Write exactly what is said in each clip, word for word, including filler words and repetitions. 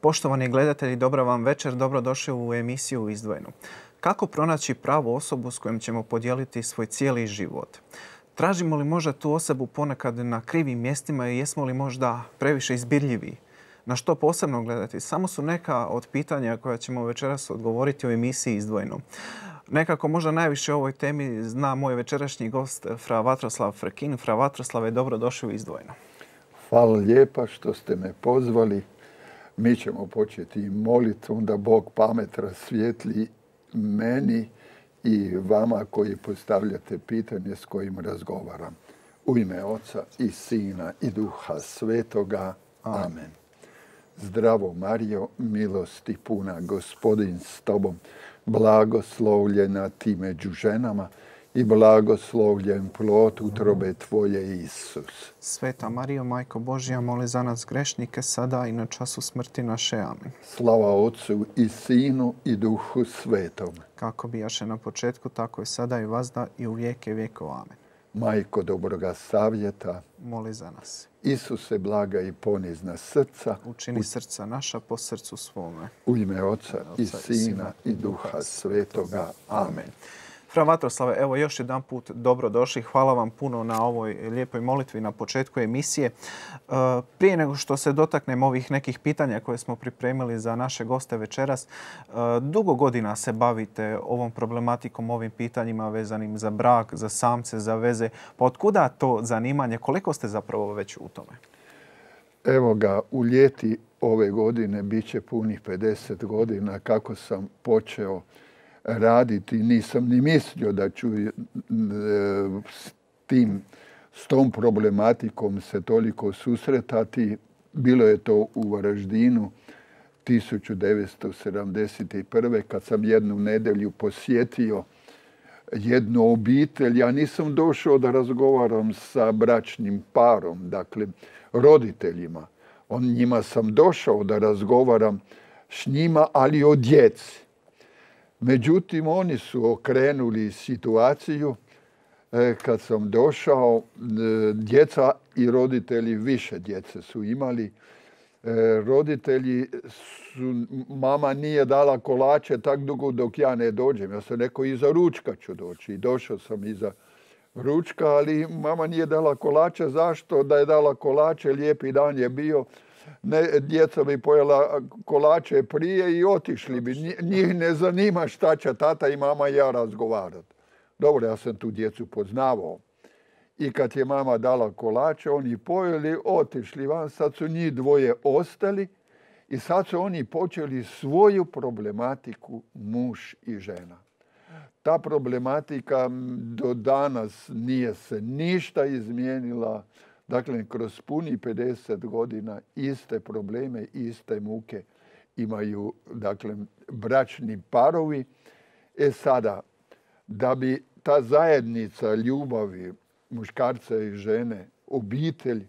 Poštovani gledatelji, dobra vam večer, dobrodošli u emisiju Izdvojeno. Kako pronaći pravu osobu s kojom ćemo podijeliti svoj cijeli život? Tražimo li možda tu osobu ponekad na krivim mjestima i jesmo li možda previše izbirljivi? Na što posebno gledati? Samo su neka od pitanja koja ćemo večeras odgovoriti u emisiji Izdvojeno. Nekako možda najviše o ovoj temi zna moj večerašnji gost, fra Vatroslav Frekin. Fra Vatroslave, dobrodošli u Izdvojeno. Hvala lijepa što ste me pozvali. Mi ćemo početi molitvom da Bog pamet rasvijetli meni i vama koji postavljate pitanje s kojim razgovaram. U ime Oca i Sina i Duha Svetoga. Amen. Zdravo Marijo, milosti puna, Gospodin s tobom, blagoslovljena ti među ženama i blagoslovljen plod utrobe tvoje, Isus. Sveta Marijo, Majko Božja, moli za nas grešnike, sada i na času smrti naše. Amen. Slava Otcu i Sinu i Duhu Svetom. Kako bijaše na početku, tako i sada i vazda i u vijeke vjekova. Amen. Majko dobroga savjeta, moli za nas. Isuse blaga i ponizna srca, učini u... srca naša po srcu svome. U ime Oca, Oca i Sina i Duha Svetoga. Amen. Fra Vatroslave, evo još jedan put dobrodošli. Hvala vam puno na ovoj lijepoj molitvi na početku emisije. Prije nego što se dotaknem ovih nekih pitanja koje smo pripremili za naše goste večeras, dugo godina se bavite ovom problematikom, ovim pitanjima vezanim za brak, za samce, za veze. Pa otkuda to zanimanje? Koliko ste zapravo već u tome? Evo ga, u ljeti ove godine bit će punih pedeset godina kako sam počeo raditi. Nisam ni mislio da ću s tim, s tom problematikom se toliko susretati. Bilo je to u Varaždinu tisuću devetsto sedamdeset prve. kad sam jednu nedjelju posjetio jednu obitelj. Ja nisam došao da razgovaram sa bračnim parom, dakle roditeljima. On njima sam došao da razgovaram s njima, ali o djeci. Međutim, oni su okrenuli situaciju. Kad sam došao, djeca i roditelji, više djece su imali. Roditelji su, mama nije dala kolače tak dugo dok ja ne dođem. Ja sam rekao, iza ručka ću doći. I došao sam iza ručka, ali mama nije dala kolače. Zašto? Da je dala kolače, lijepi dan je bio. Ne, djeca bi pojela kolače prije i otišli bi. Njih ne zanima šta će tata i mama i ja razgovarati. Dobro, ja sam tu djecu poznavao. I kad je mama dala kolače, oni pojeli, otišli van. Sad su njih dvoje ostali i sad su oni počeli svoju problematiku, muž i žena. Ta problematika do danas nije se ništa izmijenila. Dakle, kroz puni pedeset godina iste probleme, iste muke imaju, dakle, bračni parovi. E sada, da bi ta zajednica ljubavi muškarca i žene, obitelj,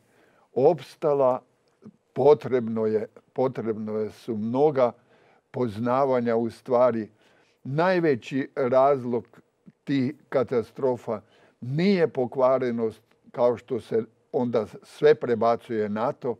opstala, potrebno je, potrebno je su mnoga poznavanja. U stvari, najveći razlog tih katastrofa nije pokvarenost, kao što se onda sve prebacuje na to,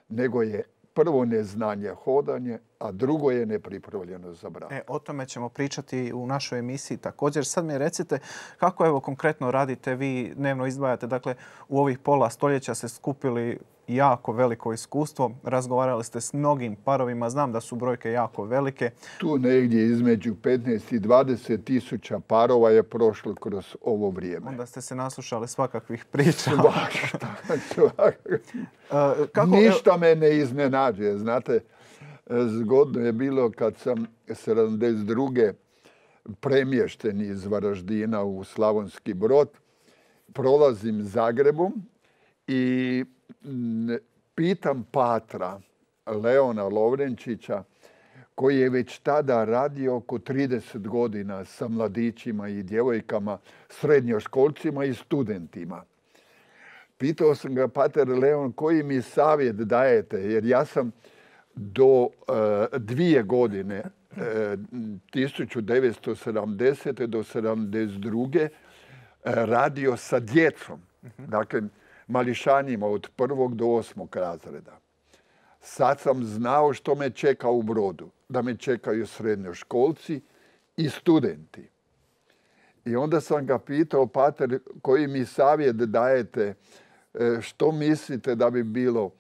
nego je prvo neznanje, hodanje, a drugo je nepripravljenost za brak. E, o tome ćemo pričati u našoj emisiji također. Sad mi recite kako evo konkretno radite, vi dnevno izdvajate, dakle u ovih pola stoljeća se skupili jako veliko iskustvo, razgovarali ste s mnogim parovima, znam da su brojke jako velike. Tu negdje između petnaest i dvadeset tisuća parova je prošlo kroz ovo vrijeme. Onda ste se naslušali svakakvih priča. Svašta, svašta. Kako... Ništa me ne iznenađuje, znate. Zgodno je bilo kad sam sedamdeset druge premješten iz Varaždina u Slavonski Brod. Prolazim Zagrebom i pitam patra Leona Lovrenčića, koji je već tada radio oko trideset godina sa mladićima i djevojkama, srednjoškolcima i studentima. Pitao sam ga, pater Leon, koji mi savjet dajete? Jer ja sam do uh, dvije godine tisuću devetsto sedamdesete do sedamdeset druge radio sa djecom. Dakle, mališanjima od prvog do osmog razreda. Sad sam znao što me čeka u Brodu. Da me čekaju srednjoškolci i studenti. I onda sam ga pitao, pater, koji mi savjet dajete, što mislite da bi bilo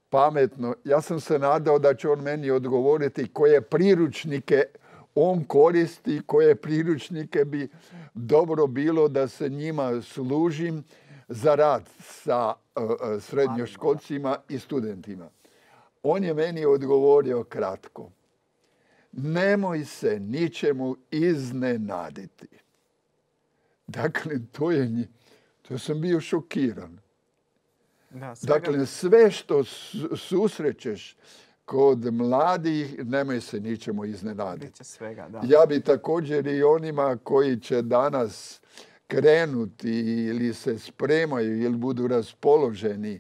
pametno? Ja sam se nadao da će on meni odgovoriti koje priručnike on koristi, koje priručnike bi dobro bilo da se njima služim za rad sa srednjoškolcima i studentima. On je meni odgovorio kratko. Nemoj se ničemu iznenaditi. Dakle, to je, to sam bio šokiran. Da, svega... Dakle, sve što susrećeš kod mladih, nemoj se ničemu iznenaditi. Svega, da. Ja bi također i onima koji će danas krenuti ili se spremaju ili budu raspoloženi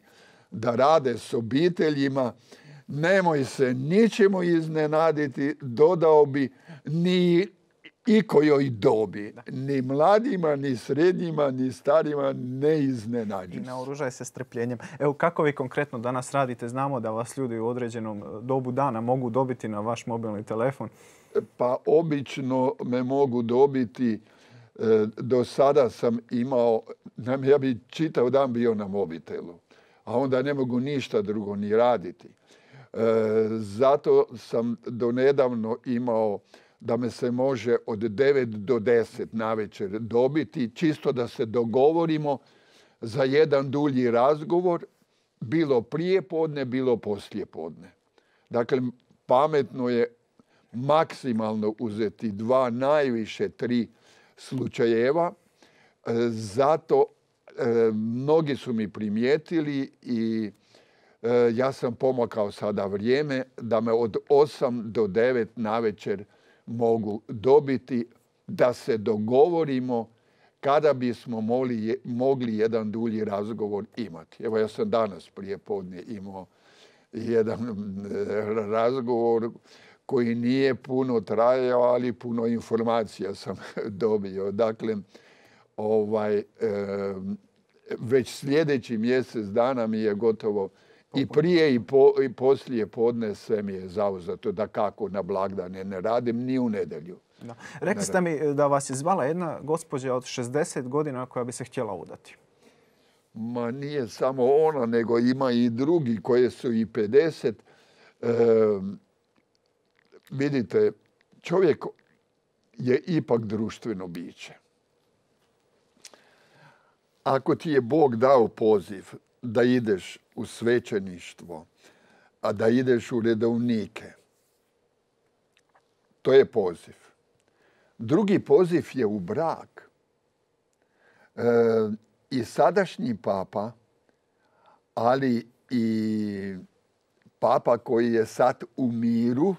da rade s obiteljima, nemoj se ničemu iznenaditi, dodao bi ni ikojoj dobi. Ni mladima, ni srednjima, ni starima ne iznenađi. I naoružaj se strpljenjem. Evo, kako vi konkretno danas radite? Znamo da vas ljudi u određenom dobu dana mogu dobiti na vaš mobilni telefon. Pa obično me mogu dobiti. Do sada sam imao, ja bi čitav dan bio na mobitelu, a onda ne mogu ništa drugo ni raditi. Zato sam donedavno imao da me se može od devet do deset navečer dobiti, čisto da se dogovorimo za jedan dulji razgovor, bilo prije podne, bilo poslije podne. Dakle, pametno je maksimalno uzeti dva, najviše tri slučajeva. Zato mnogi su mi primijetili i ja sam pomakao sada vrijeme da me od osam do devet navečer mogu dobiti, da se dogovorimo kada bismo mogli, mogli jedan dulji razgovor imati. Evo, ja sam danas prije podne imao jedan razgovor koji nije puno trajao, ali puno informacija sam dobio. Dakle, ovaj, već sljedeći mjesec dana mi je gotovo i prije i, po, i poslije podne sve mi je zauzeto, da kako na blagdane ne radim, ni u nedjelju. Da. Rekli ste mi da vas je zvala jedna gospođa od šezdeset godina koja bi se htjela udati. Ma nije samo ona, nego ima i drugi koji su i pedeset. E, vidite, čovjek je ipak društveno biće. Ako ti je Bog dao poziv da ideš u svećeništvo, a da ideš u redovnike, to je poziv. Drugi poziv je u brak. E, I sadašnji papa, ali i papa koji je sad u miru,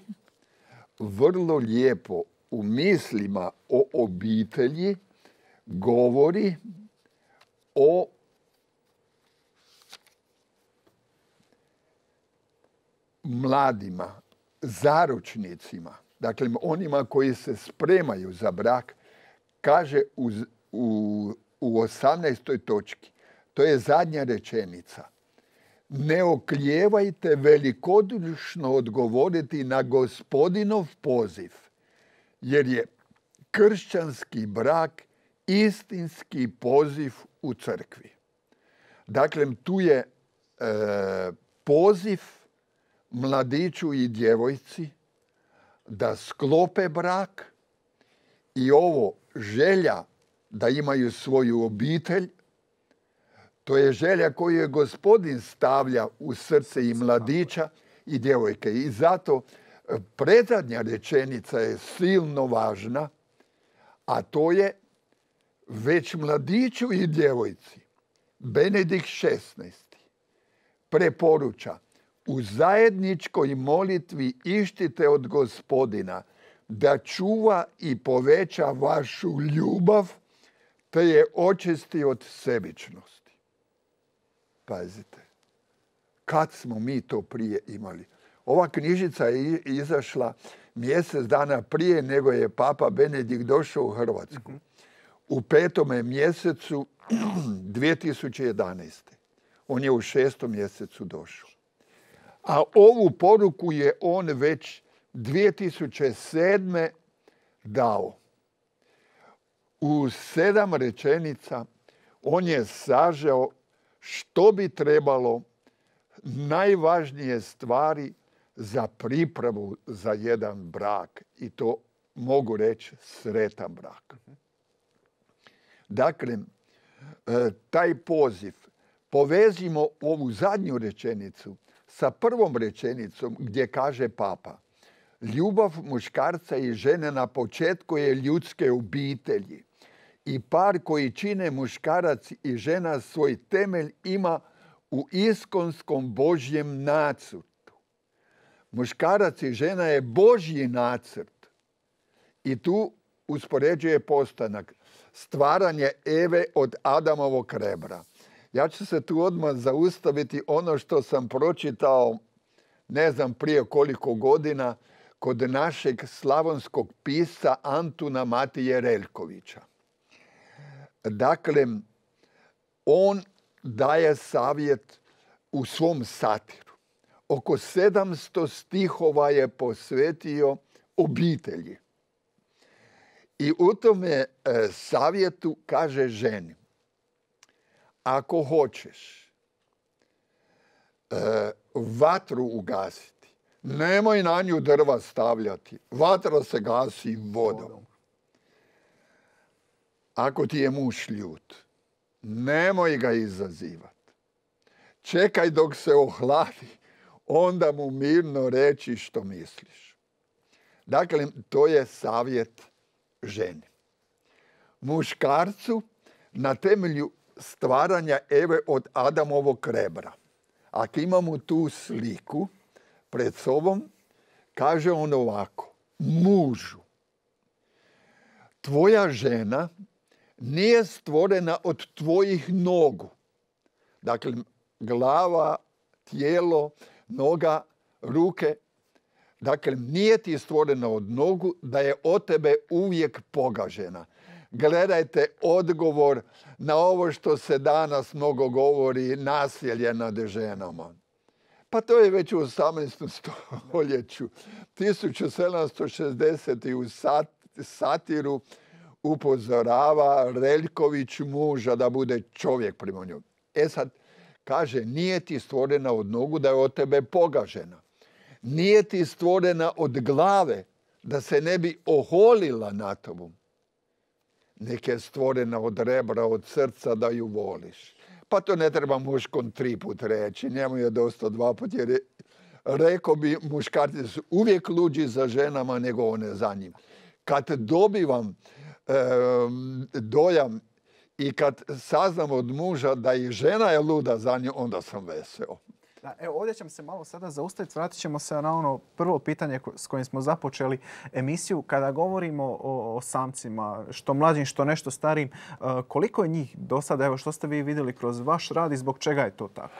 vrlo lijepo u mislima o obitelji govori o mladima, zaručnicima, dakle onima koji se spremaju za brak, kaže u, u, u osamnaestoj točki, to je zadnja rečenica. Ne oklijevajte velikodušno odgovoriti na Gospodinov poziv, jer je kršćanski brak istinski poziv u crkvi. Dakle, tu je e, poziv mladiću i djevojci da sklope brak i ovo želja da imaju svoju obitelj, to je želja koju je Gospodin stavlja u srce i mladića i djevojke. I zato predzadnja rečenica je silno važna, a to je već mladiću i djevojci Benedikt šesnaesti preporuča: u zajedničkoj molitvi ištite od Gospodina da čuva i poveća vašu ljubav, te je očisti od sebičnosti. Pazite, kad smo mi to prije imali? Ova knjižica je izašla mjesec dana prije nego je Papa Benedikt došao u Hrvatsku. U petome mjesecu dvije tisuće jedanaeste. On je u šestom mjesecu došao. A ovu poruku je on već dvije tisuće sedme dao. U sedam rečenica on je sažeo što bi trebalo, najvažnije stvari za pripravu za jedan brak. I to mogu reći sretan brak. Dakle, taj poziv povezimo ovu zadnju rečenicu sa prvom rečenicom gdje kaže Papa: ljubav muškarca i žene na početku je ljudske obitelji i par koji čine muškarac i žena svoj temelj ima u iskonskom Božjem nacrtu. Muškarac i žena je Božji nacrt i tu uspoređuje postanak, stvaranje Eve od Adamovog rebra. Ja ću se tu odmah zaustaviti ono što sam pročitao, ne znam prije koliko godina, kod našeg slavonskog pisca Antuna Matije Reljkovića. Dakle, on daje savjet u svom satiru. Oko sedamsto stihova je posvetio obitelji. I u tome savjetu kaže ženi: ako hoćeš vatru ugasiti, nemoj na nju drva stavljati. Vatra se gasi vodom. Ako ti je muž ljut, nemoj ga izazivati. Čekaj dok se ohladi, onda mu mirno reći što misliš. Dakle, to je savjet ženi. Muškarcu na temelju stvaranja Eve od Adamovog rebra. Ako imamo tu sliku pred sobom, kaže on ovako: mužu, tvoja žena nije stvorena od tvojih nogu. Dakle, glava, tijelo, noga, ruke. Dakle, nije ti stvorena od nogu da je od tebe uvijek pogažena. Gledajte odgovor na ovo što se danas mnogo govori, nasilje nad ženama. Pa to je već u osamnaestom stoljeću. tisuću sedamsto šezdesete. u satiru upozorava Reljković muža da bude čovjek prema njoj. E sad, kaže, nije ti stvorena od nogu da je od tebe pogažena. Nije ti stvorena od glave da se ne bi oholila na tobom. Nek je stvorena od rebra, od srca da ju voliš. Pa to ne treba muškom tri put reći. Njemu je dosta dva put, jer je, rekao bi, muškarci su uvijek luđi za ženama nego one za njim. Kad dobivam e, dojam i kad saznam od muža da i žena je luda za nju, onda sam veseo. Da, evo, ovdje ćemo se malo sada zaustaviti. Vratit ćemo se na ono prvo pitanje s kojim smo započeli emisiju. Kada govorimo o, o samcima, što mlađim, što nešto starijim, koliko je njih do sada? Evo, što ste vi vidjeli kroz vaš rad i zbog čega je to tako?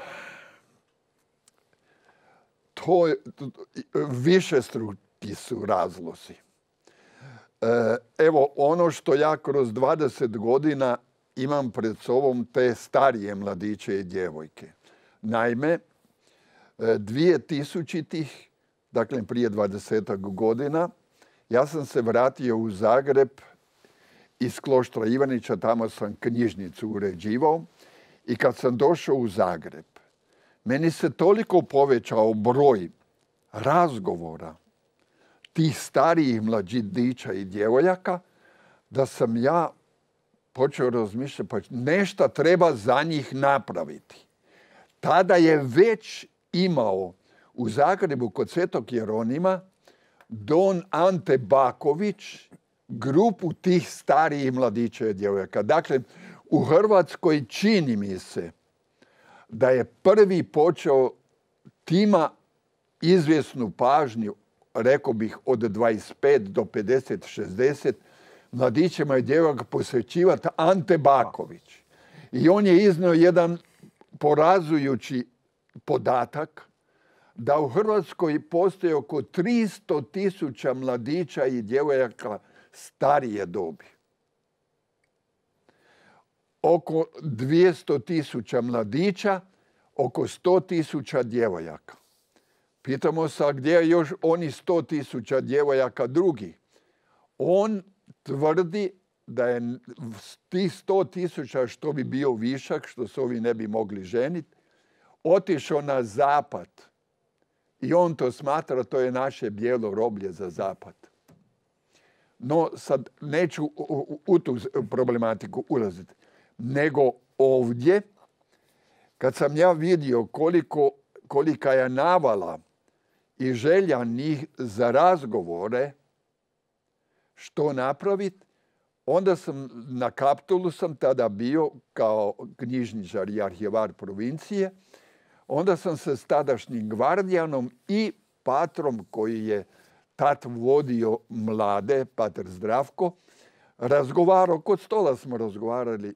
To je, višestruki su razlozi. Evo, ono što ja kroz dvadeset godina imam pred sobom, te starije mladiće i djevojke. Naime, dvije tisućitih, dakle prije dvadesetak godina, ja sam se vratio u Zagreb iz Kloštra Ivanića, tamo sam knjižnicu uređivao i kad sam došao u Zagreb, meni se toliko povećao broj razgovora tih starijih mlađića i djevojaka da sam ja počeo razmišljati, pa nešto treba za njih napraviti. Tada je već imao u Zagrebu kod Svetog Jeronima don Ante Baković grupu tih starijih mladića i djevojaka. Dakle, u Hrvatskoj čini mi se da je prvi počeo tima izvjesnu pažnju, rekao bih od dvadeset pet do pedeset šezdeset, mladićima i djevojaka posvećivati Ante Baković. I on je iznio jedan porazujući podatak da u Hrvatskoj postoji oko tristo tisuća mladića i djevojaka starije dobi. Oko dvjesto tisuća mladića, oko sto tisuća djevojaka. Pitamo se, a gdje je još oni sto tisuća djevojaka drugi? On tvrdi da je tih sto tisuća, što bi bio višak, što se ovi ne bi mogli ženiti, otišao na zapad. I on to smatra, to je naše bijelo roblje za zapad. No, sad neću u, u tu problematiku ulaziti. Nego ovdje, kad sam ja vidio koliko, kolika je navala i želja njih za razgovore, što napraviti, onda sam na Kaptolu sam tada bio kao knjižničar i arhivar provincije. Onda sam se s tadašnjim gvardijanom i patrom koji je tad vodio mlade, pater Zdravko, razgovarao, kod stola smo razgovarali.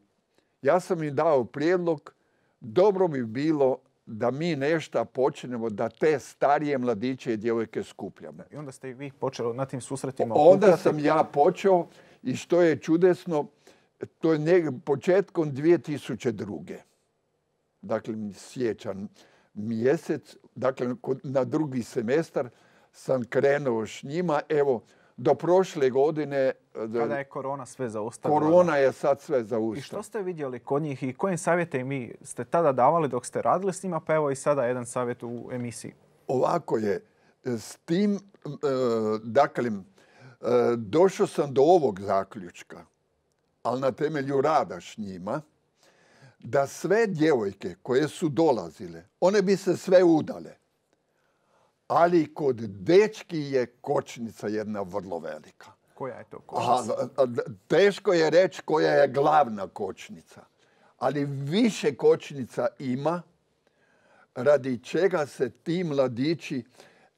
Ja sam im dao prijedlog, dobro bi bilo da mi nešto počnemo, da te starije mladiće i djevojke skupljamo. I onda ste i vi počeli na tim susretima okupljati. Onda okupljati. sam ja počeo i što je čudesno, to je ne, početkom dvije tisuće druge. Dakle, siječanj mjesec, dakle, na drugi semestar sam krenuo s njima. Evo, do prošle godine... Kada je korona sve zaustavila. Korona je sad sve zaustavila. I što ste vidjeli kod njih i kojim savjete mi ste tada davali dok ste radili s njima, pa evo i sada jedan savjet u emisiji. Ovako je. S tim, dakle, došao sam do ovog zaključka, ali na temelju rada s njima, da sve djevojke koje su dolazile, one bi se sve udale. Ali kod dečki je kočnica jedna vrlo velika. Koja je to kočnica? A, teško je reći koja je glavna kočnica. Ali više kočnica ima radi čega se ti mladići,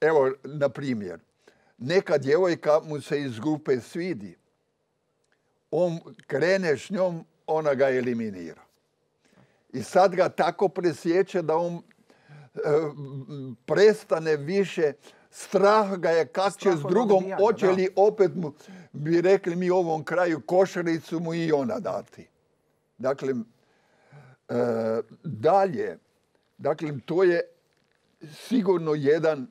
evo, na primjer, neka djevojka mu se iz grupe svidi. On krene s njom, ona ga eliminira. I sad ga tako presjeće da on e, prestane više, strah ga je kak će s drugom, hoće li opet mu, bi rekli mi ovom kraju, košaricu mu i ona dati. Dakle, e, dalje, dakle, to je sigurno jedan,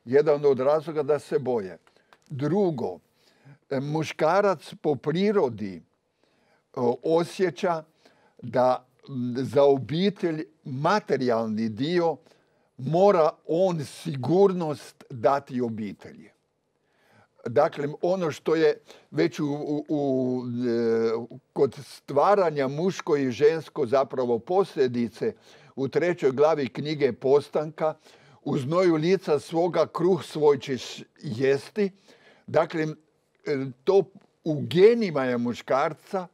jedan od razloga da se boje. Drugo, muškarac po prirodi osjeća da za obitelj materijalni dio mora on sigurnost dati obitelji. Dakle, ono što je već u, u, u, kod stvaranja muško i žensko zapravo posljedice u trećoj glavi knjige Postanka, u znoju lica svoga kruh svoj ćeš jesti. Dakle, to u genima je muškarca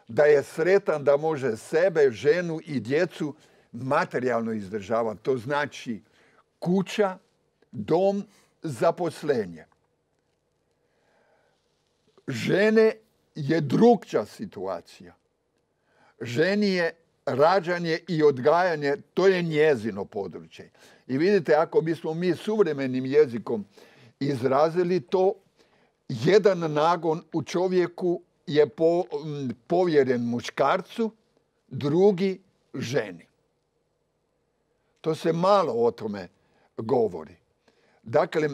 da je sretan da može sebe, ženu i djecu materijalno izdržavati. To znači kuća, dom, zaposlenje. Žene je drukčija situacija. Ženi je rađanje i odgajanje, to je njezino područje. I vidite, ako bismo mi suvremenim jezikom izrazili to, jedan nagon u čovjeku je po, povjeren muškarcu, drugi ženi. To se malo o tome govori. Dakle,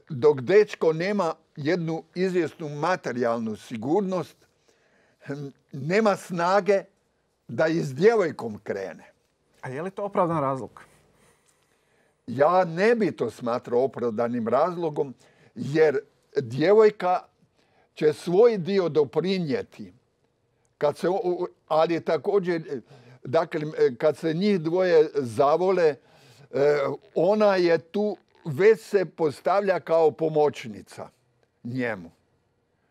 dok dečko nema jednu izvjesnu materijalnu sigurnost, nema snage da i s djevojkom krene. A je li to opravdan razlog? Ja ne bi to smatrao opravdanim razlogom, jer djevojka će svoj dio doprinijeti. Kad se, ali također, dakle, kad se njih dvoje zavole, ona je tu, već se postavlja kao pomoćnica njemu.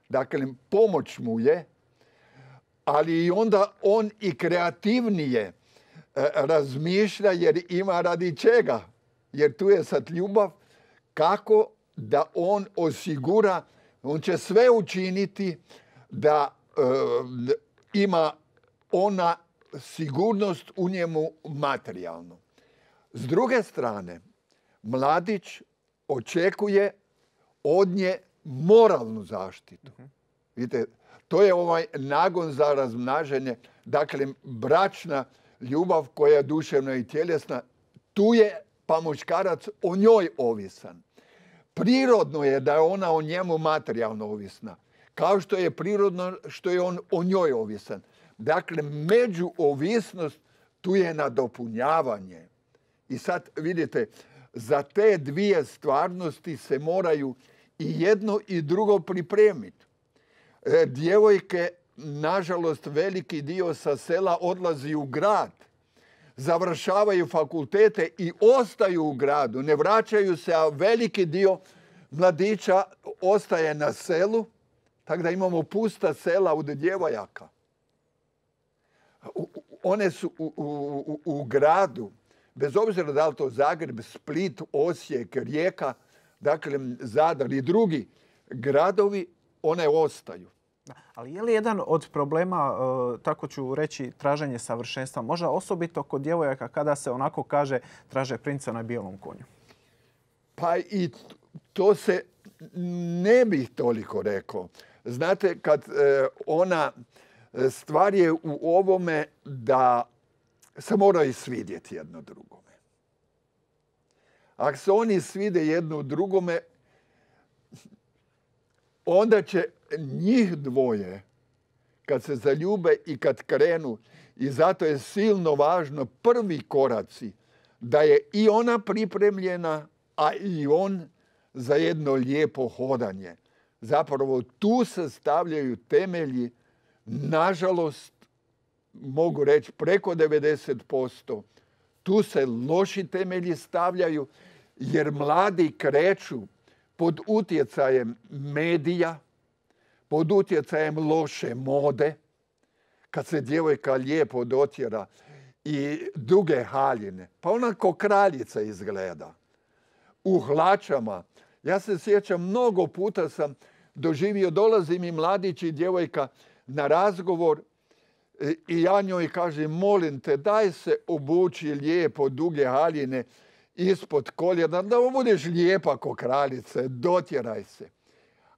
Dakle, pomoć mu je, ali i onda on i kreativnije razmišlja jer ima radi čega. Jer tu je sad ljubav kako da on osigura, on će sve učiniti da e, ima ona sigurnost u njemu materijalnu. S druge strane, mladić očekuje od nje moralnu zaštitu. Uh-huh. Vidite, to je ovaj nagon za razmnaženje. Dakle, bračna ljubav koja je duševna i tjelesna, tu je pa muškarac o njoj ovisan. Prirodno je da je ona o njemu materijalno ovisna. Kao što je prirodno što je on o njoj ovisan. Dakle, međuovisnost tu je nadopunjavanje. I sad vidite, za te dvije stvarnosti se moraju i jedno i drugo pripremiti. E, djevojke, nažalost, veliki dio sa sela odlazi u grad, završavaju fakultete i ostaju u gradu, ne vraćaju se, a veliki dio mladića ostaje na selu, tako da imamo pusta sela od djevojaka. One su u, u, u gradu, bez obzira da li to Zagreb, Split, Osijek, Rijeka, dakle Zadar i drugi gradovi, one ostaju. Ali je li jedan od problema, tako ću reći, traženje savršenstva, možda osobito kod djevojaka kada se onako kaže traže princa na bijelom konju? Pa i to se ne bih toliko rekao. Znate, kad ona, stvar je u ovome da se moraju svidjeti jedno drugome. Ako se oni svide jedno drugome, onda će njih dvoje, kad se zaljube i kad krenu, i zato je silno važno prvi koraci, da je i ona pripremljena, a i on za jedno lijepo hodanje. Zapravo tu se stavljaju temelji, nažalost, mogu reći preko devedeset posto. Tu se loši temelji stavljaju jer mladi kreću pod utjecajem medija, pod utjecajem loše mode, kad se djevojka lijepo dotjera i duge haljine, pa ona ko kraljica izgleda. U hlačama. Ja se sjećam, mnogo puta sam doživio, dolazi mi mladić i djevojka na razgovor i ja njoj kažem, molim te, daj se obuči lijepo duge haljine ispod koljena, da budeš lijepa ko kraljice, dotjeraj se.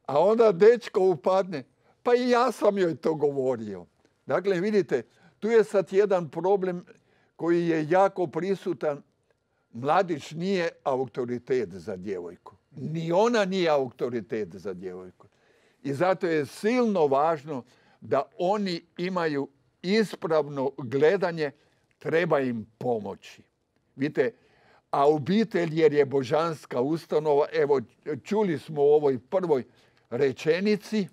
A onda dečko upadne, pa i ja sam joj to govorio. Dakle, vidite, tu je sad jedan problem koji je jako prisutan. Mladić nije autoritet za djevojku. Ni ona nije autoritet za djevojku. I zato je silno važno da oni imaju ispravno gledanje, treba im pomoći. Vidite, a obitelj jer je božanska ustanova, evo čuli smo u ovoj prvoj rečenici,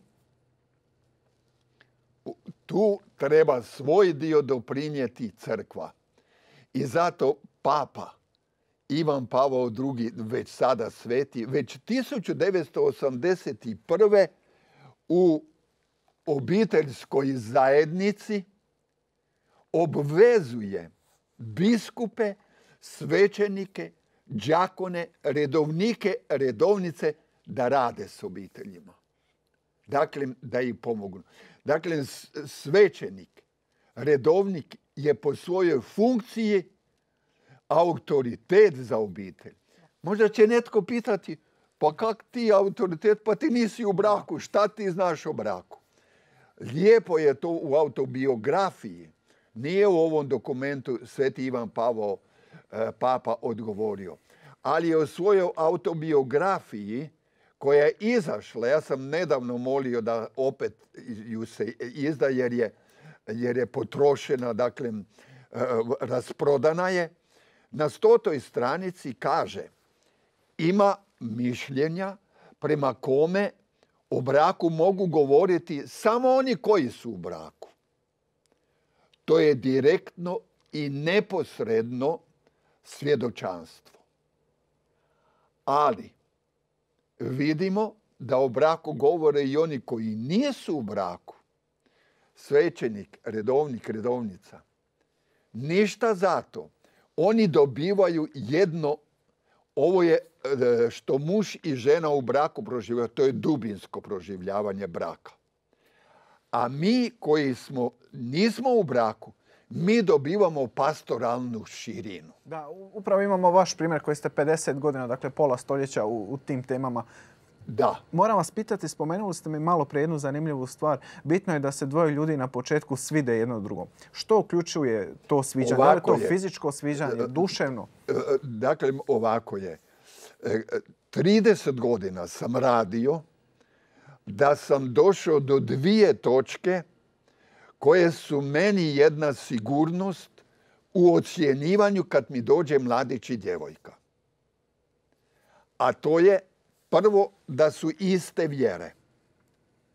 tu treba svoj dio doprinijeti crkva. I zato Papa Ivan Pavao drugi, već sada sveti, već tisuću devetsto osamdeset prve u obiteljskoj zajednici obvezuje biskupe, svećenike, đakone, redovnike, redovnice da rade s obiteljima. Dakle, da im pomognu. Dakle, svećenik, redovnik je po svojoj funkciji autoritet za obitelj. Možda će netko pitati, pa kak ti autoritet, pa ti nisi u braku, šta ti znaš o braku? Lijepo je to u autobiografiji. Nije u ovom dokumentu Sveti Ivan Pavao, Papa, odgovorio. Ali je u svojoj autobiografiji koja je izašla, ja sam nedavno molio da opet ju se izda jer je, jer je potrošena, dakle, rasprodana je, na stotoj stranici kaže, ima mišljenja prema kome o braku mogu govoriti samo oni koji su u braku. To je direktno i neposredno svjedočanstvo. Ali vidimo da o braku govore i oni koji nisu u braku. Svećenik, redovnik, redovnica. Ništa zato. Oni dobivaju jedno, ovo je što muž i žena u braku proživljaju, to je dubinsko proživljavanje braka. A mi koji smo, nismo u braku, mi dobivamo pastoralnu širinu. Da, upravo imamo vaš primjer koji ste pedeset godina, dakle pola stoljeća u, u tim temama. Da. Moram vas pitati, spomenuli ste mi malo prije jednu zanimljivu stvar. Bitno je da se dvoje ljudi na početku svide jedno drugom. Što uključuje to sviđanje? Ovako je li to je. fizičko sviđanje, duševno? Dakle, ovako je. trideset godina sam radio da sam došao do dvije točke koje su meni jedna sigurnost u ocjenjivanju kad mi dođe mladić i djevojka. A to je prvo da su iste vjere,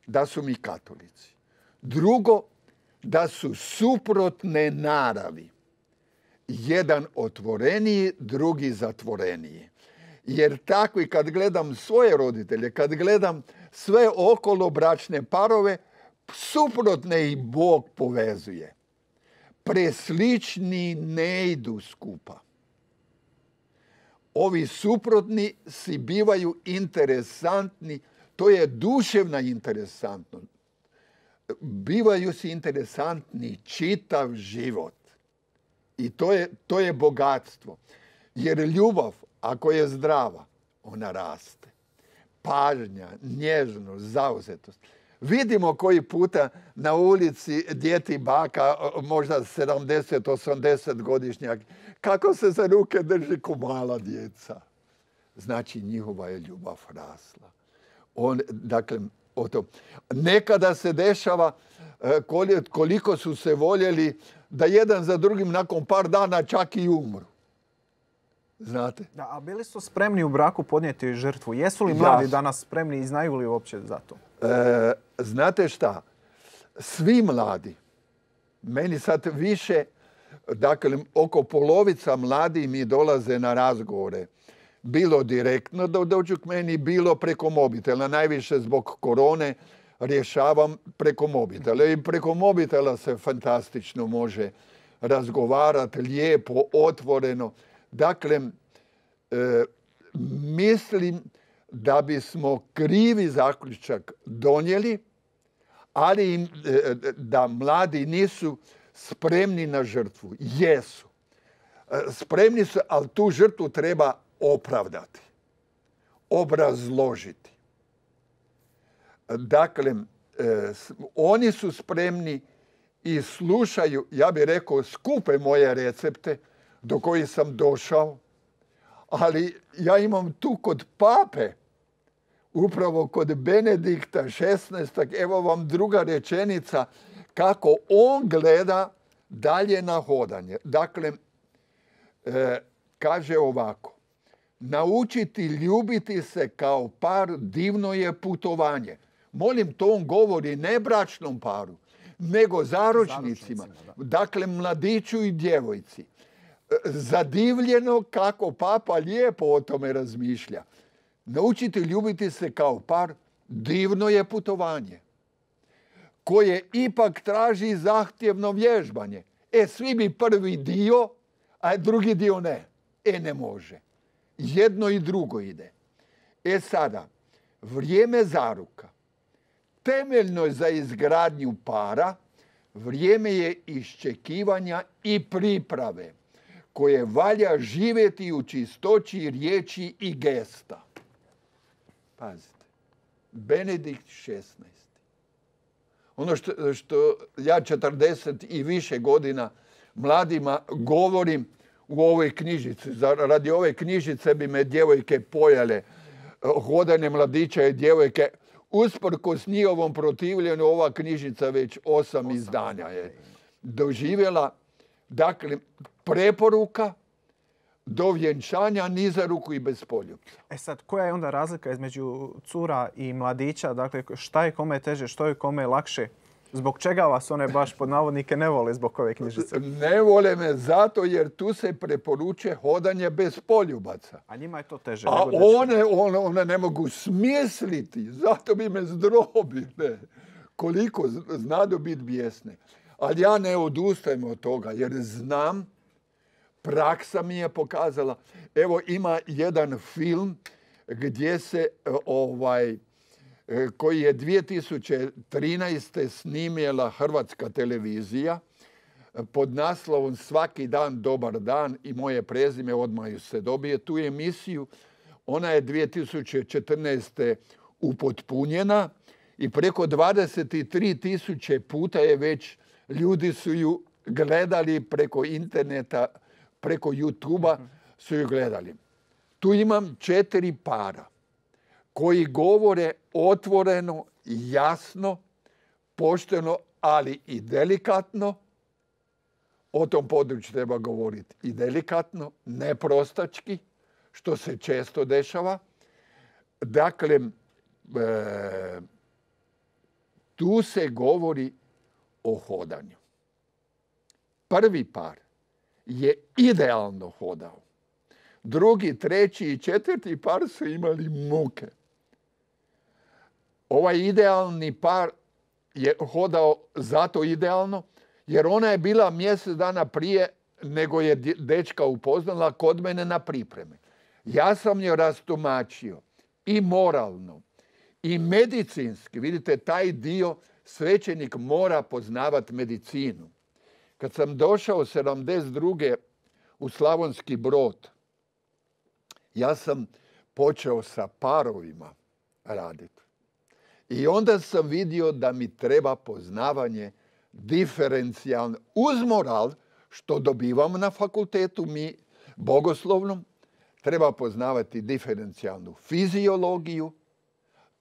da su mi katolici. Drugo, da su suprotne naravi. Jedan otvoreniji, drugi zatvoreniji. Jer tako i kad gledam svoje roditelje, kad gledam sve okolo bračne parove, suprotne ih Bog povezuje. Preslični ne idu skupa. Ovi suprotni si bivaju interesantni, to je duševna interesantnost. Bivaju si interesantni čitav život. I to je, to je bogatstvo. Jer ljubav, ako je zdrava, ona raste. Pažnja, nježnost, zauzetost. Vidimo koji puta na ulici djeti baka, možda sedamdeset osamdeset godišnjak, kako se za ruke drži ko mala djeca. Znači, njihova je ljubav rasla. On, dakle, o to. Nekada se dešava koliko su se voljeli da jedan za drugim nakon par dana čak i umru. Znate? Da, a bili su spremni u braku podnijeti žrtvu? Jesu li mladi ja. danas spremni i znaju li uopće za to? E, znate šta? Svi mladi, meni sad više, dakle, oko polovica mladi mi dolaze na razgovore. Bilo direktno da dođu k meni, bilo preko mobitela. Najviše zbog korone rješavam preko mobitela. I preko mobitela se fantastično može razgovarati, lijepo, otvoreno. Dakle, e, mislim da bismo krivi zaključak donijeli, ali im, e, da mladi nisu spremni na žrtvu. Jesu. E, spremni su, ali tu žrtvu treba opravdati, obrazložiti. Dakle, e, oni su spremni i slušaju, ja bih rekao, skupe moje recepte do kojih sam došao, ali ja imam tu kod pape, upravo kod Benedikta šesnaestog, evo vam druga rečenica, kako on gleda dalje na hodanje. Dakle, e, kaže ovako, naučiti ljubiti se kao par divno je putovanje. Molim, to on govori ne bračnom paru, nego zaručnicima. Dakle, mladiću i djevojci. Zadivljeno kako papa lijepo o tome razmišlja. Naučiti ljubiti se kao par divno je putovanje, koje ipak traži zahtjevno vježbanje. E, svi bi prvi dio, a drugi dio ne. E, ne može. Jedno i drugo ide. E sada, vrijeme zaruka. Temeljno je za izgradnju para, vrijeme je iščekivanja i priprave, koje valja živjeti u čistoći riječi i gesta. Pazite, Benedikt šesnaesti. Ono što, što ja četrdeset i više godina mladima govorim u ovoj knjižici. Radi ove knjižice bi me djevojke pojale, hodanje mladića i djevojke. Usprkos njihovom protivljenju, ova knjižica već osam, osam izdanja je doživjela. Dakle, preporuka do vjenčanja ni za ruku i bez poljupca. E sad, koja je onda razlika između cura i mladića? Dakle, šta je kome teže, što je kome lakše? Zbog čega vas one baš pod navodnike ne vole zbog ove knjižice? Ne vole me zato jer tu se preporučuje hodanje bez poljubaca. A njima je to teže. A one, one, one ne mogu smisliti. Zato bi me zdrobile. Koliko znadu biti bijesne. Ali ja ne odustajem od toga jer znam, praksa mi je pokazala. Evo, ima jedan film gdje se ovaj... koji je dvije tisuće trinaeste snimjela Hrvatska televizija. pod naslovom Svaki dan dobar dan i moje prezime odmah ju se dobije. Tu emisiju, ona je dvije tisuće četrnaeste. upotpunjena i preko dvadeset tri tisuće puta je već, ljudi su ju gledali preko interneta, preko YouTube-a su ju gledali. Tu imam četiri para koji govore otvoreno, jasno, pošteno, ali i delikatno. O tom području treba govoriti i delikatno, ne prostački, što se često dešava. Dakle, e, tu se govori o hodanju. Prvi par je idealno hodao. Drugi, treći i četvrti par su imali muke. Ovaj idealni par je hodao zato idealno, jer ona je bila mjesec dana prije nego je dečka upoznala kod mene na pripreme. Ja sam je rastumačio i moralno i medicinski. Vidite, taj dio svećenik mora poznavati medicinu. Kad sam došao sedamdeset druge u Slavonski Brod, ja sam počeo sa parovima raditi. I onda sam vidio da mi treba poznavanje diferencijalno, uz moral, što dobivamo na fakultetu mi bogoslovnom, treba poznavati diferencijalnu fiziologiju,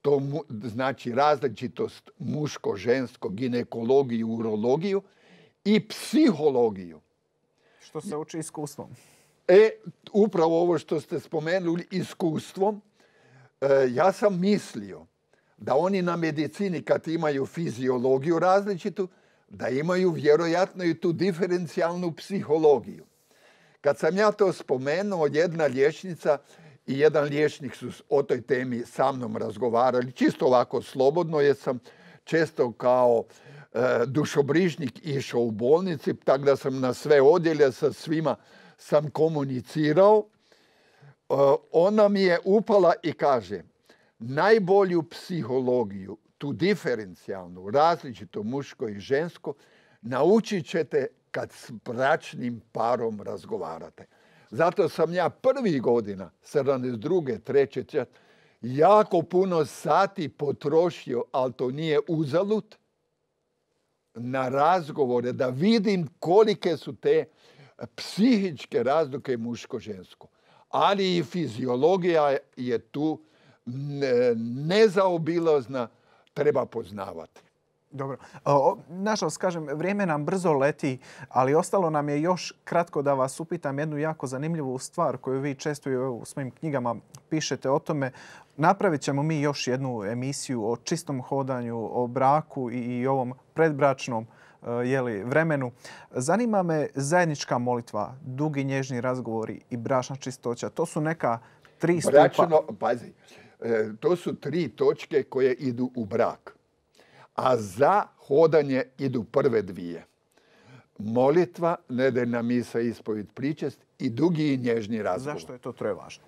to mu, znači različitost muško-žensko, ginekologiju, urologiju i psihologiju. Što se uči iskustvom. E, upravo ovo što ste spomenuli, iskustvom, e, ja sam mislio da oni na medicini kad imaju fiziologiju različitu, da imaju vjerojatno i tu diferencijalnu psihologiju. Kad sam ja to spomenuo, jedna liječnica i jedan liječnik su o toj temi sa mnom razgovarali, čisto ovako slobodno, jer sam često kao e, dušobrižnik išao u bolnici, tako da sam na sve odjele sa svima sam komunicirao. E, ona mi je upala i kaže, najbolju psihologiju, tu diferencijalnu, različito muško i žensko, naučit ćete kad s bračnim parom razgovarate. Zato sam ja prvih godina, sedamdeset druge, treće, četvrte, jako puno sati potrošio, ali to nije uzalud, na razgovore, da vidim kolike su te psihičke razlike muško-žensko. Ali i fiziologija je tu nezaobilazna, treba poznavati. Dobro. O, nažalost, kažem, vrijeme nam brzo leti, ali ostalo nam je još kratko da vas upitam jednu jako zanimljivu stvar koju vi često u svojim knjigama pišete o tome. Napravit ćemo mi još jednu emisiju o čistom hodanju, o braku i, i ovom predbračnom jeli, vremenu. Zanima me zajednička molitva, dugi nježni razgovori i bračna čistoća. To su neka tri stupa. Bračno, pazi, to su tri točke koje idu u brak. A za hodanje idu prve dvije. Molitva, nedeljna misa, ispovijed, pričest i dugi i nježni razgovor. Zašto je to troje važno?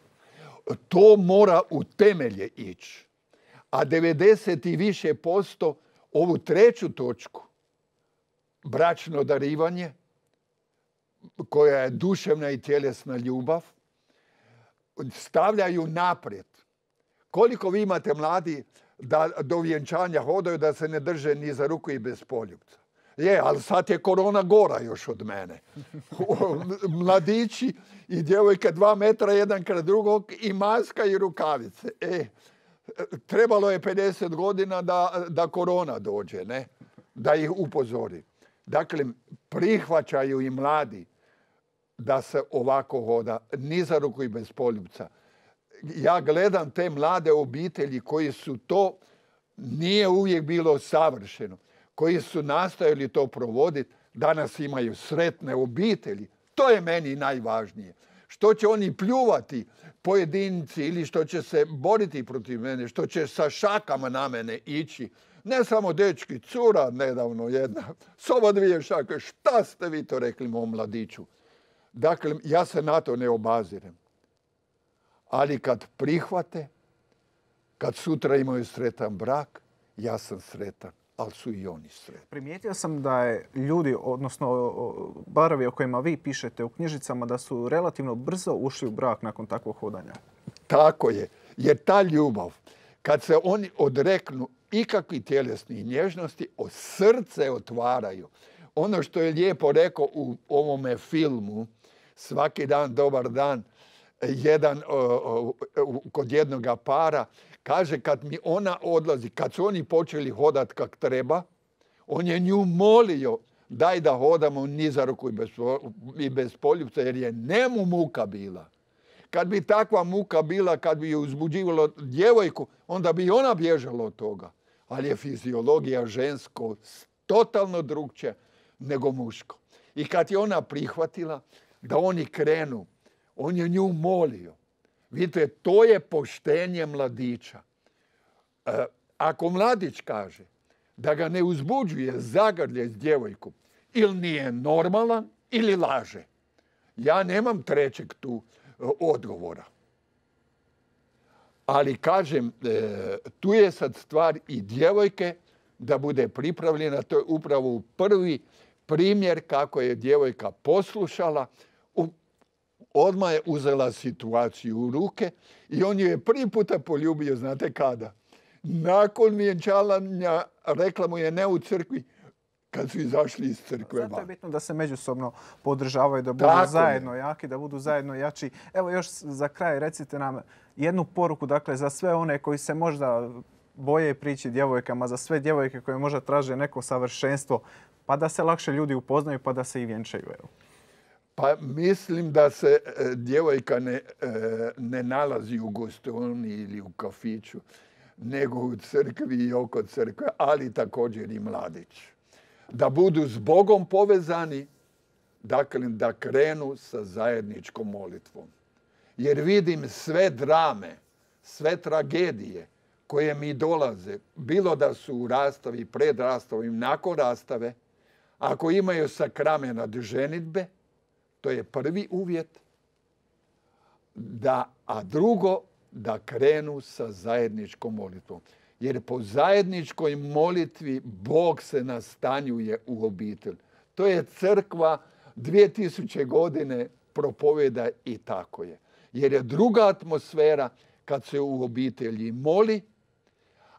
To mora u temelje ići. A devedeset i više posto ovu treću točku, bračno darivanje, koja je duševna i tjelesna ljubav, stavljaju naprijed. Koliko vi imate mladi da do vjenčanja hodaju, da se ne drže ni za ruku i bez poljupca. Je, ali sad je korona gora još od mene. Mladići i djevojke dva metra jedan kraj drugog i maska i rukavice. E, trebalo je pedeset godina da, da korona dođe, ne? Da ih upozori. Dakle, prihvaćaju i mladi da se ovako hoda, ni za ruku i bez poljupca. Ja gledam te mlade obitelji koji su to, nije uvijek bilo savršeno, koji su nastojali to provoditi, danas imaju sretne obitelji. To je meni najvažnije. Što će oni pljuvati pojedinci ili što će se boriti protiv mene, što će sa šakama na mene ići. Ne samo dečki, cura nedavno jedna, s ova dvije šake, šta ste vi to rekli mom mladiću? Dakle, ja se na to ne obazirem. Ali kad prihvate, kad sutra imaju sretan brak, ja sam sretan. ali su i oni sretni. Primijetio sam da je ljudi, odnosno barovi o kojima vi pišete u knjižicama, da su relativno brzo ušli u brak nakon takvog hodanja. Tako je. Jer ta ljubav, kad se oni odreknu ikakvih tjelesnih nježnosti, o srce otvaraju. Ono što je lijepo rekao u ovome filmu, Svaki dan, dobar dan, jedan, o, o, kod jednoga para, kaže kad mi ona odlazi, kad su oni počeli hodat kak treba, on je nju molio daj da hodamo ni za ruku i bez, i bez poljubca, jer je njemu muka bila. Kad bi takva muka bila, kad bi je uzbuđivalo djevojku, onda bi ona bježala od toga. Ali je fiziologija žensko totalno drugčija nego muško. I kad je ona prihvatila da oni krenu, on je nju molio. Vidite, to je poštenje mladića. E, ako mladić kaže da ga ne uzbuđuje zagrlje s djevojkom, ili nije normalan, ili laže. Ja nemam trećeg tu e, odgovora. Ali kažem, e, tu je sad stvar i djevojke da bude pripravljena. To je upravo prvi primjer kako je djevojka poslušala. U, odmah je uzela situaciju u ruke i on ju je prvi puta poljubio, znate kada? Nakon vjenčavanja, rekla mu je ne u crkvi, kad su izašli iz crkve. Zato je bitno da se međusobno podržavaju, da budu Tako zajedno je. jaki, da budu zajedno jači. Evo još za kraj recite nam jednu poruku, dakle, za sve one koji se možda boje prići djevojkama, za sve djevojke koje možda traže neko savršenstvo, pa da se lakše ljudi upoznaju, pa da se i vjenčaju. Evo. Pa mislim da se e, djevojka ne, e, ne nalazi u gostovini ili u kafiću, nego u crkvi i oko crkve, ali također i mladić. Da budu s Bogom povezani, dakle da krenu sa zajedničkom molitvom. Jer vidim sve drame, sve tragedije koje mi dolaze, bilo da su u rastavi, pred rastavom, nakon rastave, ako imaju sakramenat ženidbe, to je prvi uvjet, da, a drugo, da krenu sa zajedničkom molitvom. Jer po zajedničkoj molitvi Bog se nastanjuje u obitelj. To je crkva dvije tisuće godine propovjeda i tako je. Jer je druga atmosfera kad se u obitelji moli,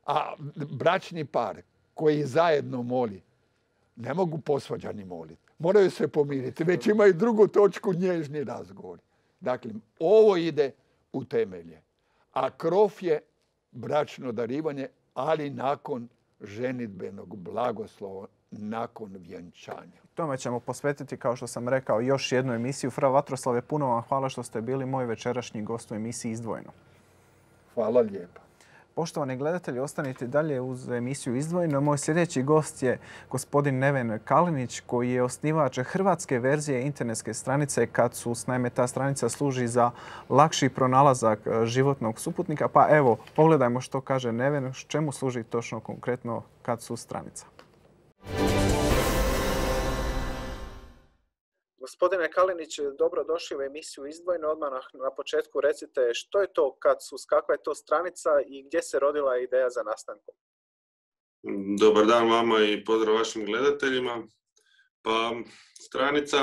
a bračni par koji zajedno moli, ne mogu posvađani moliti. Moraju se pomiriti. Već imaju drugu točku, nježni razgovor. Dakle, ovo ide u temelje. A krov je bračno darivanje, ali nakon ženidbenog blagoslova, nakon vjenčanja. Tome ćemo posvetiti, kao što sam rekao, još jednu emisiju. Fra Vatroslave, puno vam hvala što ste bili moj večerašnji gost u emisiji Izdvojeno. Hvala lijepa. Poštovani gledatelji, ostanite dalje uz emisiju Izdvojeno. Moj sljedeći gost je gospodin Neven Kalinić, koji je osnivač hrvatske verzije internetske stranice Katsus. Naime, ta stranica služi za lakši pronalazak životnog suputnika. Pa evo, pogledajmo što kaže Neven, čemu služi točno konkretno Katsus stranica. Gospodine Kalinić, dobro došli u emisiju Izdvojeno. Odmah na početku recite što je to Katsus, kakva je to stranica i gdje se rodila ideja za nastankom. Dobar dan vama i pozdrav vašim gledateljima. Pa stranica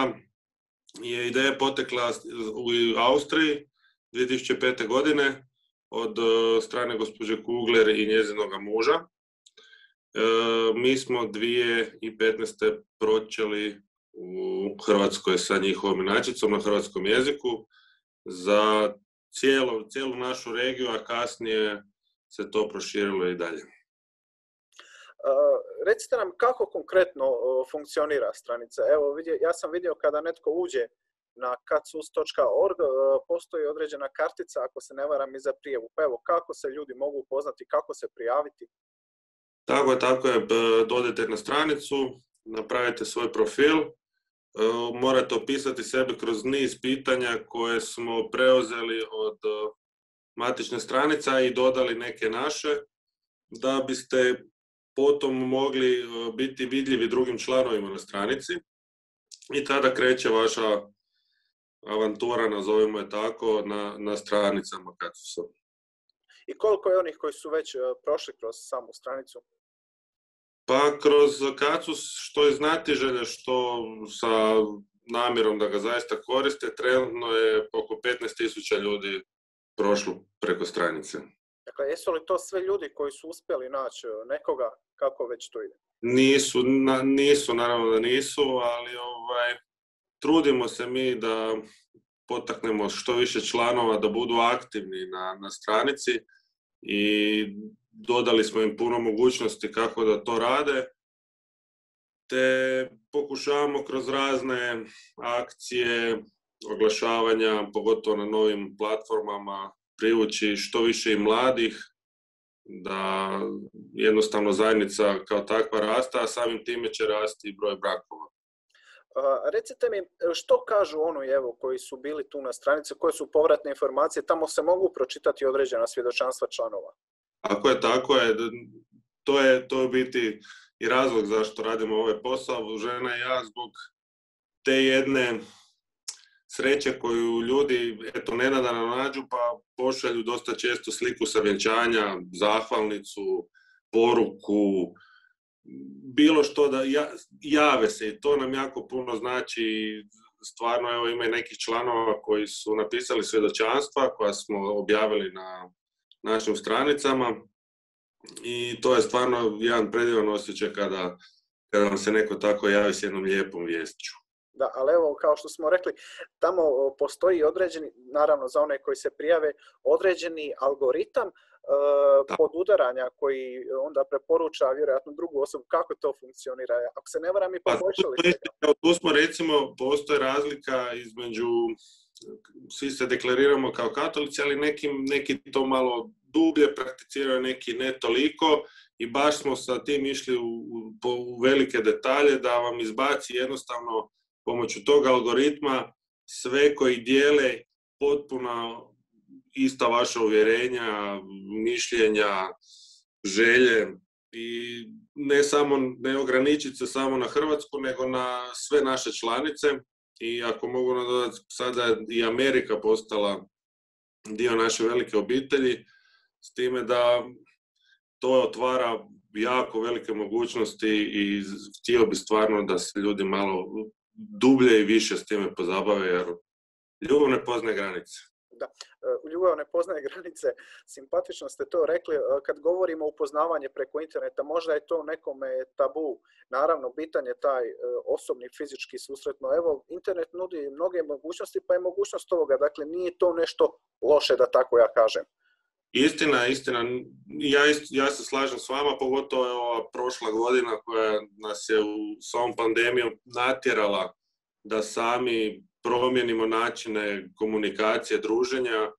je ideja potekla u Austriji dvije tisuće pete. godine od strane gospođe Kugler i njezinoga muža. E, mi smo dvije tisuće petnaeste. počeli u Hrvatskoj sa njihovom inačicom na hrvatskom jeziku za cijelu, cijelu našu regiju, a kasnije se to proširilo i dalje. Uh, recite nam kako konkretno uh, funkcionira stranica. Evo, vidio, ja sam vidio kada netko uđe na katsus točka org, uh, postoji određena kartica, ako se ne varam, i za prijavu. Pa evo, kako se ljudi mogu upoznati, kako se prijaviti? Tako je, tako je. Dodete na stranicu, napravite svoj profil, morate opisati sebe kroz niz pitanja koje smo preuzeli od matične stranica i dodali neke naše, da biste potom mogli biti vidljivi drugim članovima na stranici i tada kreće vaša avantura, nazovimo je tako, na, na stranicama Katsusa. I koliko je onih koji su već prošli kroz samu stranicu? Pa kroz Kacu, što je znatiželje, što sa namjerom da ga zaista koriste, trenutno je oko petnaest tisuća ljudi prošlo preko stranice. Dakle, jesu li to sve ljudi koji su uspjeli naći nekoga, kako već to ide? Nisu, na, nisu, naravno da nisu, ali ovaj, trudimo se mi da potaknemo što više članova da budu aktivni na, na stranici i dodali smo im puno mogućnosti kako da to rade, te pokušavamo kroz razne akcije, oglašavanja, pogotovo na novim platformama, privući što više i mladih, da jednostavno zajednica kao takva rasta, a samim time će rasti i broj brakova. Uh, recite mi, što kažu oni evo, koji su bili tu na stranici, koje su povratne informacije, tamo se mogu pročitati određena svjedočanstva članova? Ako je tako, je, to je to je biti i razlog zašto radimo ovaj posao. Žena i ja zbog te jedne sreće koju ljudi eto nenadano nađu, pa pošalju dosta često sliku sa vjenčanja, zahvalnicu, poruku, bilo što da ja, jave se i to nam jako puno znači. Stvarno, evo, ima i nekih članova koji su napisali svjedočanstva koja smo objavili na našim stranicama i to je stvarno jedan predivan osjećaj kada, kada vam se neko tako javi s jednom lijepom viješću. Da, ali evo, kao što smo rekli, tamo postoji određeni, naravno za one koji se prijave, određeni algoritam uh, podudaranja koji onda preporuča vjerojatno drugu osobu. Kako to funkcionira? Ako se ne varam, i poboljšali ste ga. Tu smo, recimo, postoji razlika između, svi se deklariramo kao katolici, ali neki, neki to malo dublje prakticiraju, neki ne toliko i baš smo sa tim išli u, u, u velike detalje da vam izbaci jednostavno pomoću tog algoritma sve koji dijele potpuno ista vaša uvjerenja, mišljenja, želje i ne samo, ne ograničiti se samo na Hrvatsku, nego na sve naše članice. I ako mogu nadodati, sada je i Amerika postala dio naše velike obitelji, s time da to otvara jako velike mogućnosti i htio bi stvarno da se ljudi malo dublje i više s time pozabave, jer ljubav ne poznaje granice. Da, ljubav ne poznaje granice, simpatično ste to rekli. Kad govorimo o upoznavanju preko interneta, možda je to nekome tabu. Naravno, bitan je taj osobni fizički susret, no evo, internet nudi mnoge mogućnosti, pa je mogućnost ovoga. Dakle, nije to nešto loše, da tako ja kažem. Istina, istina. Ja, ja se slažem s vama, pogotovo je ova prošla godina koja nas je u, s ovom pandemijom natjerala da sami promijenimo načine komunikacije, druženja,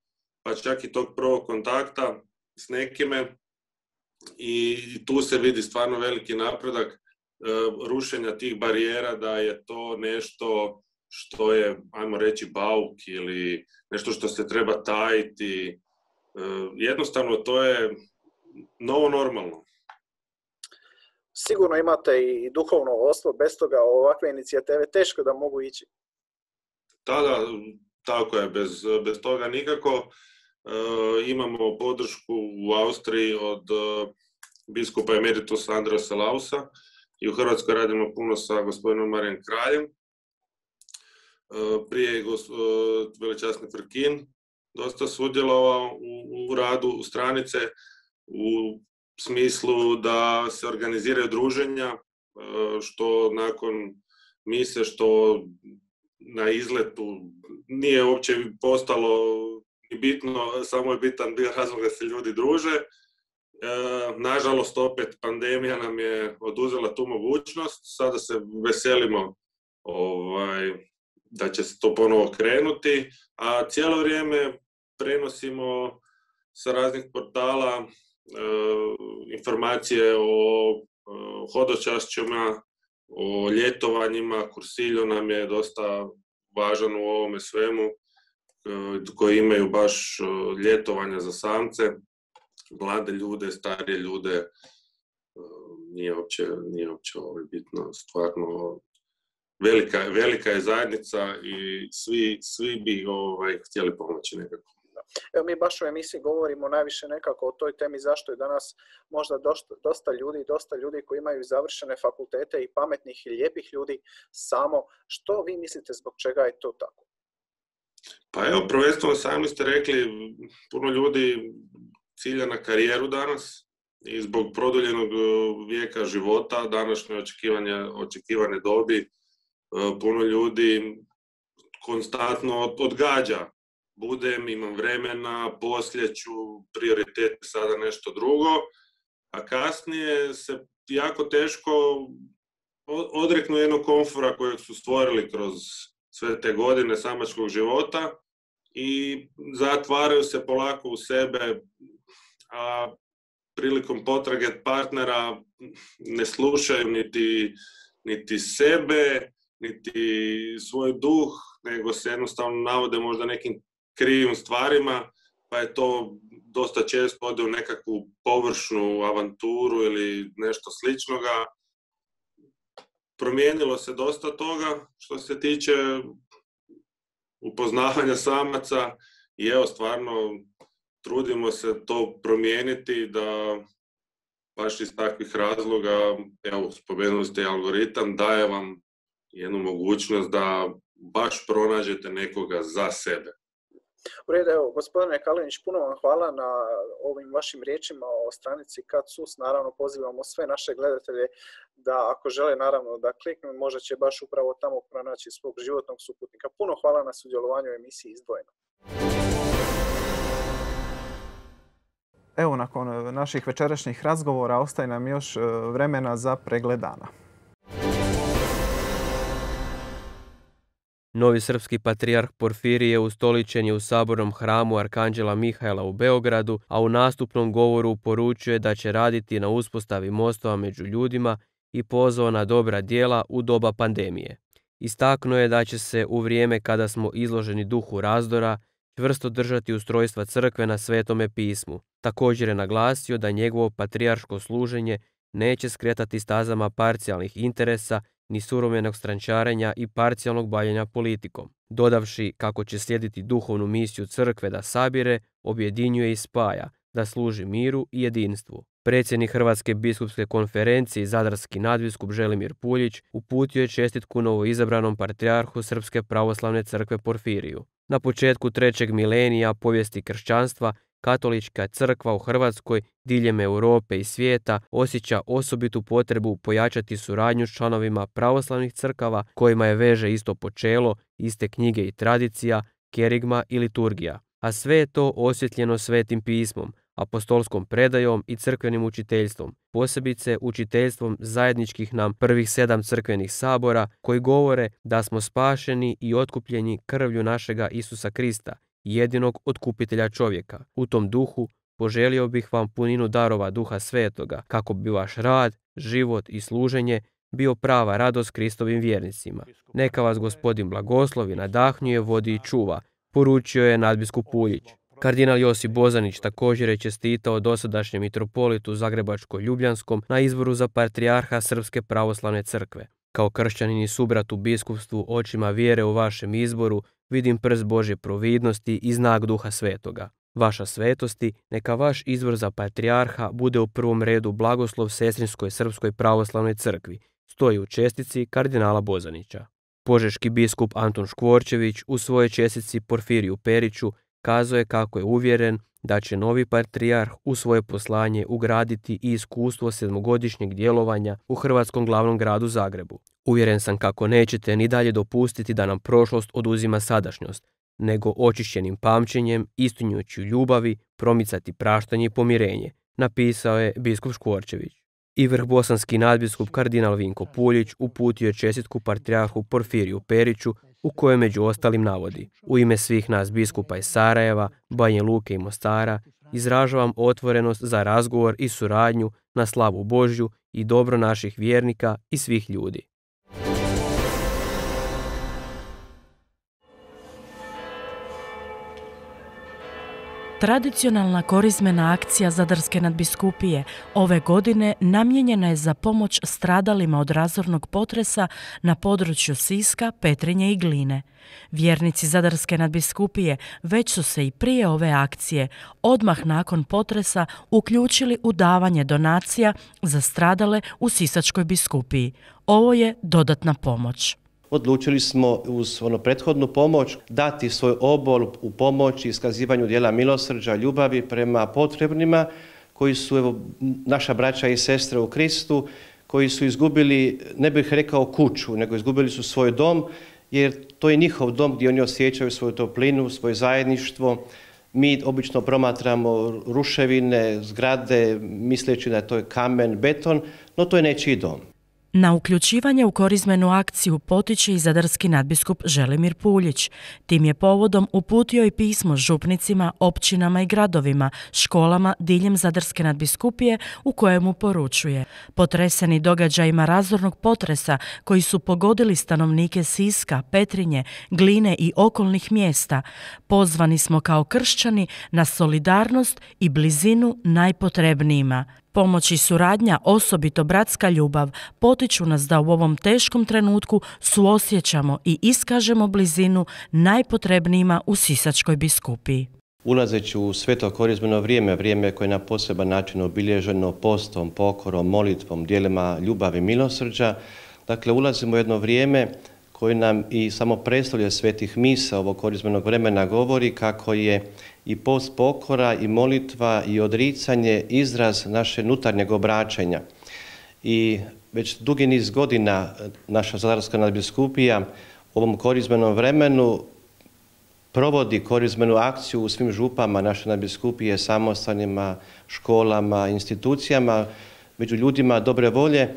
pa čak i tog prvog kontakta s nekime. I tu se vidi stvarno veliki napredak e, rušenja tih barijera, da je to nešto što je, ajmo reći, bauk ili nešto što se treba tajiti. Jednostavno, to je novo normalno. Sigurno imate i duhovno vodstvo, bez toga ovakve inicijative teško da mogu ići. Da, da, tako je, bez, bez toga nikako. E, imamo podršku u Austriji od biskupa emeritusa Andreasa Lausa i u Hrvatskoj radimo puno sa gospodinom Marijem Kraljem. E, prije je gos, veličasni Frkin dosta sudjelovao u, u radu stranice u smislu da se organiziraju druženja, što nakon mise, što na izletu nije uopće postalo ni bitno, samo je bitan bio razlog da se ljudi druže. E, nažalost, opet pandemija nam je oduzela tu mogućnost, sada se veselimo ovaj, da će se to ponovo krenuti, a cijelo vrijeme prenosimo sa raznih portala e, informacije o e, hodočašćima, o ljetovanjima. Kursiljo nam je dosta važan u ovome svemu, e, koji imaju baš e, ljetovanja za samce, mlade ljude, starije ljude, e, nije uopće, nije uopće ovo bitno, stvarno velika, velika je zajednica i svi, svi bi ovaj, htjeli pomoći nekako. Evo, mi baš u emisiji govorimo najviše nekako o toj temi zašto je danas možda dosta, dosta ljudi, dosta ljudi koji imaju završene fakultete i pametnih i lijepih ljudi samo. Što vi mislite zbog čega je to tako? Pa evo, prvenstveno sami ste rekli, puno ljudi cilja na karijeru danas i zbog produljenog vijeka života, današnje očekivanje, očekivane dobi, puno ljudi konstantno odgađa. Budem, imam vremena, poslije ću, prioritet je sada nešto drugo, a kasnije se jako teško odreknu jednog komfora kojeg su stvorili kroz sve te godine samačkog života i zatvaraju se polako u sebe, a prilikom potrage partnera ne slušaju niti, niti sebe, niti svoj duh, nego se jednostavno navode možda nekim krivim stvarima, pa je to dosta često ode u nekakvu površnu avanturu ili nešto sličnoga. Promijenilo se dosta toga što se tiče upoznavanja samaca i evo, stvarno trudimo se to promijeniti da baš iz takvih razloga, evo, spomenuli ste algoritam, daje vam jednu mogućnost da baš pronađete nekoga za sebe. U redu, evo, gospodine Kalinić, puno vam hvala na ovim vašim riječima o stranici Kad sus. Naravno, pozivamo sve naše gledatelje da, ako žele, naravno, da kliknu, možda će baš upravo tamo pronaći svog životnog suputnika. Puno hvala na sudjelovanju u emisiji Izdvojeno. Evo, nakon naših večerašnjih razgovora ostaje nam još vremena za pregled dana. Novi srpski patrijarh Porfirije ustoličen je u sabornom hramu Arkanđela Mihajla u Beogradu, a u nastupnom govoru poručuje da će raditi na uspostavi mostova među ljudima i pozvao na dobra djela u doba pandemije. Istaknuo je da će se u vrijeme kada smo izloženi duhu razdora čvrsto držati ustrojstva crkve na Svetome pismu. Također je naglasio da njegovo patrijarško služenje neće skretati stazama parcijalnih interesa ni surovenog strančarenja i parcijalnog bavljenja politikom, dodavši kako će slijediti duhovnu misiju crkve da sabire, objedinjuje i spaja, da služi miru i jedinstvu. Predsjednik Hrvatske biskupske konferencije i zadarski nadbiskup Želimir Puljić uputio je čestitku novoizabranom patrijarhu Srpske pravoslavne crkve Porfiriju. Na početku trećeg milenija povijesti kršćanstva, Katolička crkva u Hrvatskoj, diljem Europe i svijeta osjeća osobitu potrebu pojačati suradnju s članovima pravoslavnih crkava kojima je veže isto počelo, iste knjige i tradicija, kerigma i liturgija. A sve je to osvjetljeno Svetim pismom, apostolskom predajom i crkvenim učiteljstvom, posebice učiteljstvom zajedničkih nam prvih sedam crkvenih sabora koji govore da smo spašeni i otkupljeni krvlju našega Isusa Krista, jedinog otkupitelja čovjeka. U tom duhu poželio bih vam puninu darova Duha Svetoga, kako bi vaš rad, život i služenje bio prava radost Kristovim vjernicima. Neka vas Gospodin blagoslovi, nadahnjuje, vodi i čuva, poručio je nadbiskup Puljić. Kardinal Josip Bozanić također je čestitao dosadašnjem mitropolitu Zagrebačko-Ljubljanskom na izboru za patrijarha Srpske pravoslavne crkve. Kao kršćanin i subrat u biskupstvu očima vjere u vašem izboru vidim prst Božje providnosti i znak Duha Svetoga. Vaša svetosti, neka vaš izbor za patrijarha bude u prvom redu blagoslov Sestrinskoj Srpskoj pravoslavnoj crkvi, stoji u čestici kardinala Bozanića. Požeški biskup Antun Škvorčević u svojoj čestici Porfiriju Periću kazao je kako je uvjeren da će novi patrijarh u svoje poslanje ugraditi i iskustvo sedmogodišnjeg djelovanja u hrvatskom glavnom gradu Zagrebu. Uvjeren sam kako nećete ni dalje dopustiti da nam prošlost oduzima sadašnjost, nego očišćenim pamćenjem, istinjujući ljubavi, promicati praštanje i pomirenje, napisao je biskup Škvorčević. I vrhbosanski nadbiskup kardinal Vinko Puljić uputio je čestitku patrijarhu Porfiriju Periću u kojoj među ostalim navodi: u ime svih nas biskupa iz Sarajeva, Banja Luke i Mostara izražavam otvorenost za razgovor i suradnju na slavu Božju i dobro naših vjernika i svih ljudi. Tradicionalna korizmena akcija Zadarske nadbiskupije ove godine namijenjena je za pomoć stradalima od razornog potresa na području Siska, Petrinje i Gline. Vjernici Zadarske nadbiskupije već su se i prije ove akcije, odmah nakon potresa, uključili u davanje donacija za stradale u Sisačkoj biskupiji. Ovo je dodatna pomoć. Odlučili smo uz ono prethodnu pomoć dati svoj obol u pomoć i iskazivanju djela milosrđa, ljubavi prema potrebnima koji su evo, naša braća i sestre u Kristu, koji su izgubili, ne bih rekao kuću, nego izgubili su svoj dom, jer to je njihov dom gdje oni osjećaju svoju toplinu, svoje zajedništvo. Mi obično promatramo ruševine, zgrade, misleći da to je kamen, beton, no to je nečiji dom. Na uključivanje u korizmenu akciju potiče i zadarski nadbiskup Želimir Puljić. Tim je povodom uputio i pismo župnicima, općinama i gradovima, školama diljem Zadarske nadbiskupije u kojemu poručuje: potreseni događajima razornog potresa koji su pogodili stanovnike Siska, Petrinje, Gline i okolnih mjesta, pozvani smo kao kršćani na solidarnost i blizinu najpotrebnijima. Pomoć i suradnja, osobito bratska ljubav, potiču nas da u ovom teškom trenutku suosjećamo i iskažemo blizinu najpotrebnijima u Sisačkoj biskupiji. Ulazeći u sveto korizmeno vrijeme, vrijeme koje je na poseban način obilježeno postom, pokorom, molitvom, djelima ljubavi i milosrđa, dakle ulazimo u jedno vrijeme koje nam i samo predstavlja svetih misa ovog korizmenog vremena govori kako je i post, pokora i molitva i odricanje izraz naše unutarnjeg obraćanja. I već dugi niz godina naša Zadarska nadbiskupija u ovom korizmenom vremenu provodi korizmenu akciju u svim župama naše nadbiskupije, samostanima, školama, institucijama, među ljudima dobre volje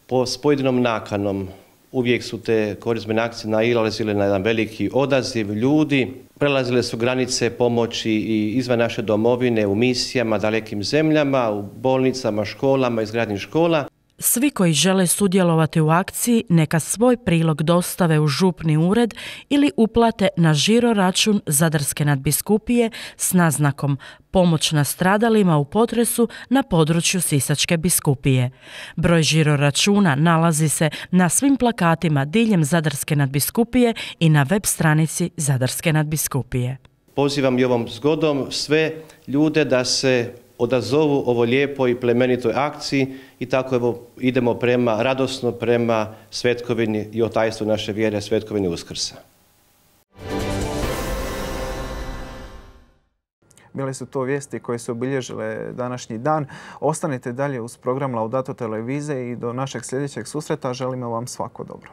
po, s pojedinom nakanom. Uvijek su te korizmene akcije nailazile na jedan veliki odaziv ljudi, prelazile su granice pomoći i izvan naše domovine, u misijama, dalekim zemljama, u bolnicama, školama, izgradnji škola. Svi koji žele sudjelovati u akciji neka svoj prilog dostave u župni ured ili uplate na žiro račun Zadarske nadbiskupije s naznakom pomoć nastradalima u potresu na području Sisačke biskupije. Broj žiro računa nalazi se na svim plakatima diljem Zadarske nadbiskupije i na web stranici Zadarske nadbiskupije. Pozivam i ovom zgodom sve ljude da se odazovu ovo lijepoj i plemenitoj akciji i tako evo idemo prema, radosno prema svetkovini i otajstvu naše vjere, svetkovini Uskrsa. Bile su to vijesti koje su obilježile današnji dan. Ostanite dalje uz program Laudato televizije i do našeg sljedećeg susreta želimo vam svako dobro.